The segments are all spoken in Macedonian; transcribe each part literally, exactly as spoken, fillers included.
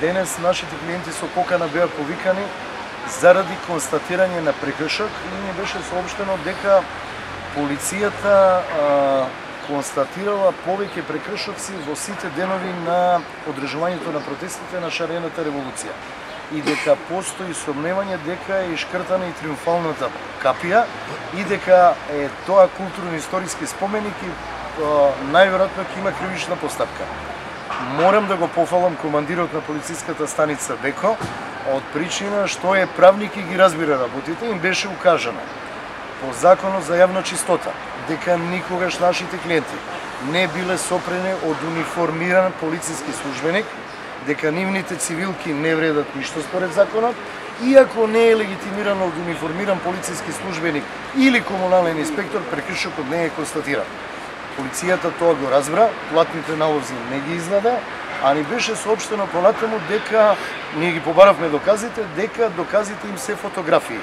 Денес нашите клиенти со покана беа повикани заради констатирање на прекршок и ни беше соопштено дека полицијата а, констатирала повеќе прекршоци во сите денови на одржувањето на протестите на шарената револуција и дека постои сомневање дека е ишкртана и триумфалната капија и дека е тоа културно-историски споменик и најверојатно ќе има кривична постапка. Морам да го пофалам командирот на полициската станица Беко од причина што е правник и ги разбира работите, им беше укажано по законот за јавна чистота дека никогаш нашите клиенти не биле сопрени од униформиран полициски службеник, дека нивните цивилки не вредат ништо според законот, иако не е легитимирано од униформиран полициски службеник или комунален инспектор, прекршокот не е констатиран. Полицијата тоа го разбра, платните налози не ги издаде, а ни беше соопштено понатаму дека ние ги побаравме доказите, дека доказите им се фотографии.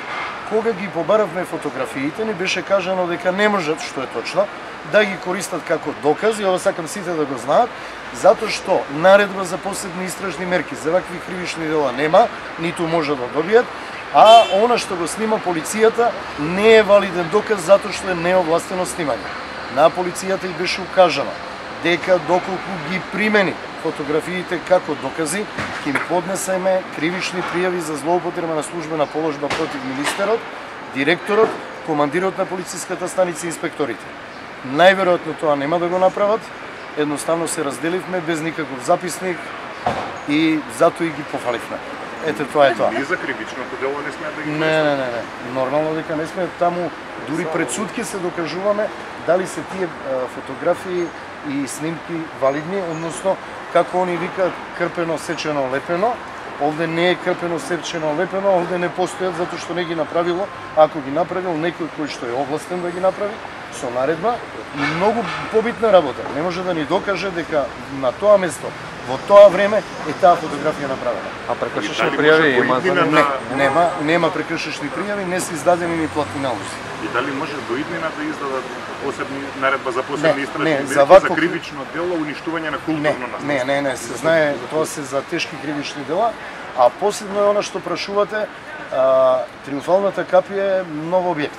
Кога ги побаравме фотографиите, ни беше кажано дека не можат, што е точно, да ги користат како доказ, и ова сакам сите да го знаат, затоа што наредба за последни истражни мерки за вакви кривични дела нема, ниту може да добијат, а она што го снима полицијата не е валиден доказ затоа што е неовластено снимање. На полицијата и беше укажано дека доколку ги примени фотографиите како докази, ќе им поднесеме кривични пријави за злоупотреба на службена положба против министерот, директорот, командирот на полициската станица и инспекторите. Најверојатно тоа нема да го направат, едноставно се разделивме без никаков записник и затоа и ги пофаливме. Ете, тоа е тоа. И за кривичното дело не сме да ги Не, не, не, не. Нормално дека не сме таму, дури пред судки се докажуваме дали се тие фотографии и снимки валидни, односно како они викаат крпено, сечено, лепено. Овде не е крпено, сечено, лепено, овде не постојат затоа што не ги направило, ако ги направил некој кој што е овластен да ги направи со наредба, и многу побитна работа. Не може да ни докаже дека на тоа место во тоа време е таа фотографија направена. А прекршечни пријави има за не, нема, нема прекршечни пријави, не се издадени ни платни налози. И дали може до иднина да издадат посебни наредба за посебни истражни мерки за, вако... за кривично дело, уништување на културно наследство? Не, не, не, се знае, тоа се за тешки кривични дела, а последно е она што прашувате, а, триумфалната капија е нов објект.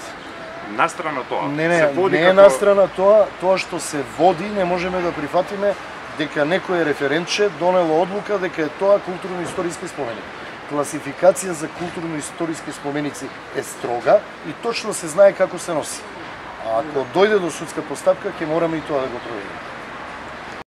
Настрана тоа? Не, не, се води не е како... настрана тоа, тоа што се води, не можеме да прифатиме дека некој референтче донело одлука дека е тоа културно-историски споменик. Класификација за културно-историски споменици е строга и точно се знае како се носи. А ако дојде до судска постапка, ќе мораме и тоа да го провериме.